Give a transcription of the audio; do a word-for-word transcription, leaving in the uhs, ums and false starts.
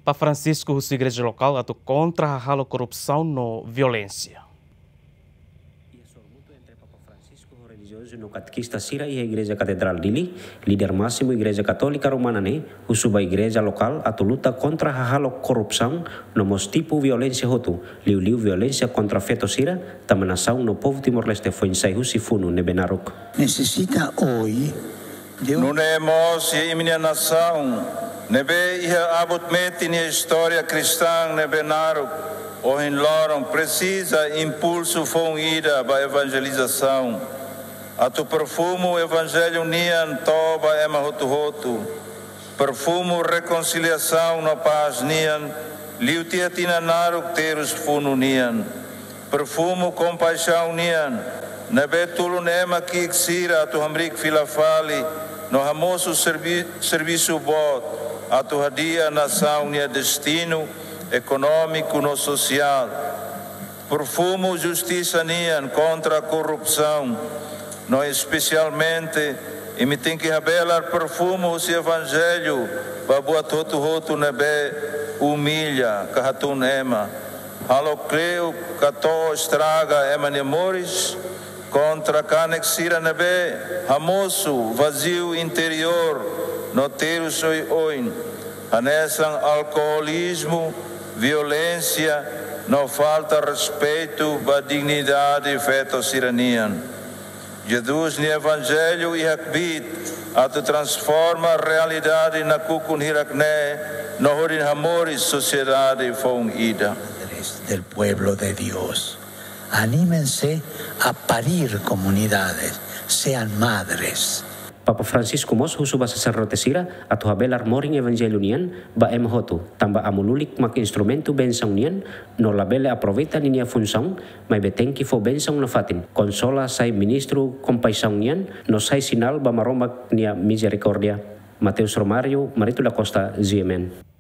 Papa Francisco husu igreja lokál atu kontra hahalok korrupsaun no violénsia. Iha sorumutu entre Papa Francisco ho relijiozu no katekista sira iha Igreja Katedrál Dili, líder másimu Igreja Katólika Romana ne'e husu ba igreja lokál atu luta kontra hahalok korrupsaun no mós tipu violénsia hotu, liuliu violénsia kontra feto sira, tanba nasaun no povu Timor-Leste foin sai husi funu ne'ebé naruk. Necesita hoy de un... Nune'e mós iha imi-nia nasaun, ne'ebé iha abut metin iha istória kristaun ne'ebé naruk, ohin loron presiza impulsu foun ida ba evanjelizasaun. Atu perfumu evanjellu nian to'o ba ema hotu-hotu. Perfumu rekonsiliasaun no pás nian, liu tiha tinan naruk terus funu nian. Perfumu kompaixaun nian, ne'ebé tulun ema ki'ik sira atu hamriik fila fali, no hamosu servi-, servisu boot, atu hadi'a nasaun nia destinu ekonómiku no sosiál. Perfumu justisa nian kontra korrupsaun, no espesialmente, imi tenke habelar perfumu husi evanjellu ba buat hotu-hotu ne'ebé umilla ka hatún ema. Halo kleur ka to'o estraga ema nia moris, kontra kanek sira ne'ebé hamosu vaziu interiór no terus oioin, hanesan alkoolizmu, violénsia, no falta respeitu ba dignidade feto sira-nian. Jesus nia evanjellu iha kbiit atu transforma realidade nakukun hirak-ne'e no hodi hamoris sosiedade foun ida. Del pueblo de Dios. Anímense a parir comunidades, sean madres. Papa Francisco mós husu ba saserdote sira atu habelar morin evanjellu nian ba ema hotu, tanba amu lulik mak instrumentu bensaun nian, no labele aproveita ninia funsaun, maibé tenke fó bensaun nafatin, konsola, sai ministru kompaixaun nian, no sai sinál ba Maromak nia mizerikórdia. Mateus Romário, Marito da Costa, G M N.